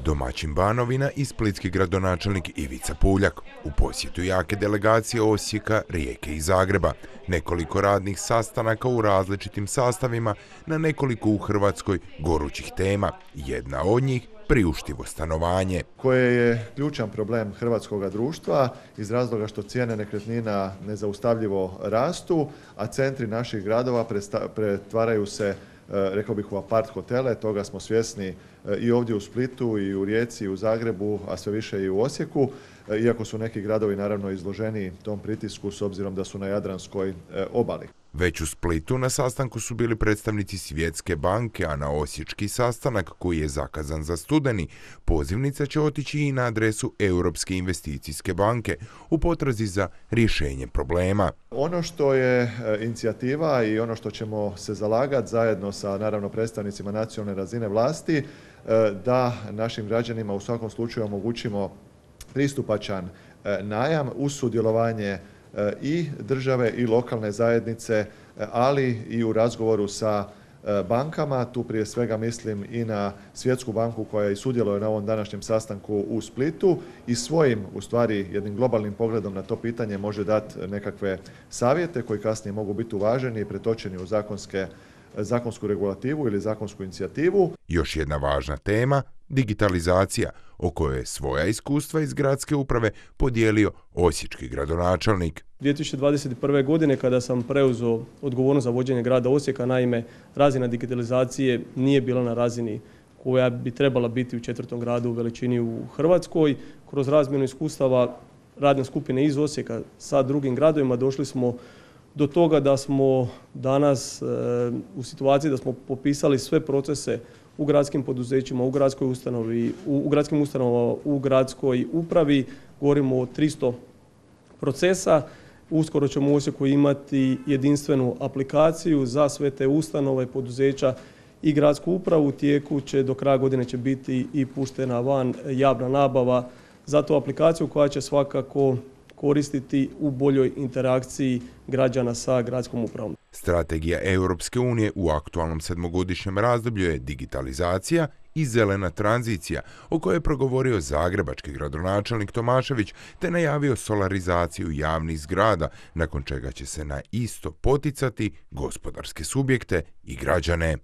Domaćin Banovina i splitski gradonačelnik Ivica Puljak u posjetu jake delegacije Osijeka, Rijeke i Zagreba. Nekoliko radnih sastanaka u različitim sastavima na nekoliko u Hrvatskoj gorućih tema. Jedna od njih priuštivo stanovanje. Koje je ključan problem hrvatskog društva iz razloga što cijene nekretnina nezaustavljivo rastu, a centri naših gradova pretvaraju se, rekao bih, u apart hotele. Toga smo svjesni i ovdje u Splitu, i u Rijeci, i u Zagrebu, a sve više i u Osijeku, iako su neki gradovi naravno izloženi tom pritisku s obzirom da su na Jadranskoj obali. Već u Splitu na sastanku su bili predstavnici Svjetske banke, a na osječki sastanak, koji je zakazan za studeni, pozivnica će otići i na adresu Europske investicijske banke u potrazi za rješenje problema. Ono što je inicijativa i ono što ćemo se zalagati zajedno sa naravno predstavnicima nacionalne razine vlasti, da našim građanima u svakom slučaju omogućimo pristupačan najam uz sudjelovanje i države i lokalne zajednice, ali i u razgovoru sa bankama. Tu prije svega mislim i na Svjetsku banku koja i sudjeluje na ovom današnjem sastanku u Splitu i svojim, u stvari, jednim globalnim pogledom na to pitanje može dati nekakve savjete koji kasnije mogu biti uvaženi i pretočeni u zakonsku regulativu ili zakonsku inicijativu. Još jedna važna tema, digitalizacija, o kojoj je svoja iskustva iz gradske uprave podijelio osječki gradonačelnik. 2021. godine kada sam preuzeo odgovornost za vođenje grada Osijeka, naime, razina digitalizacije nije bila na razini koja bi trebala biti u 4. gradu u veličini u Hrvatskoj. Kroz razmjenu iskustava radne skupine iz Osijeka sa drugim gradovima došli smo do toga da smo danas u situaciji da smo popisali sve procese u gradskim poduzećima, u gradskoj ustanovi, u gradskim ustanovama, u gradskoj upravi. Govorimo o 300 procesa. Uskoro ćemo u Osijeku imati jedinstvenu aplikaciju za sve te ustanove, poduzeća i gradsku upravu. U tijeku će do kraja godine će biti i puštena van javna nabava za tu aplikaciju koja će svakako koristiti u boljoj interakciji građana sa gradskom upravom. Strategija Europske unije u aktualnom 7-godišnjem razdoblju je digitalizacija i zelena tranzicija, o kojoj je progovorio zagrebački gradonačelnik Tomašević, te najavio solarizaciju javnih zgrada, nakon čega će se na isto poticati gospodarske subjekte i građane.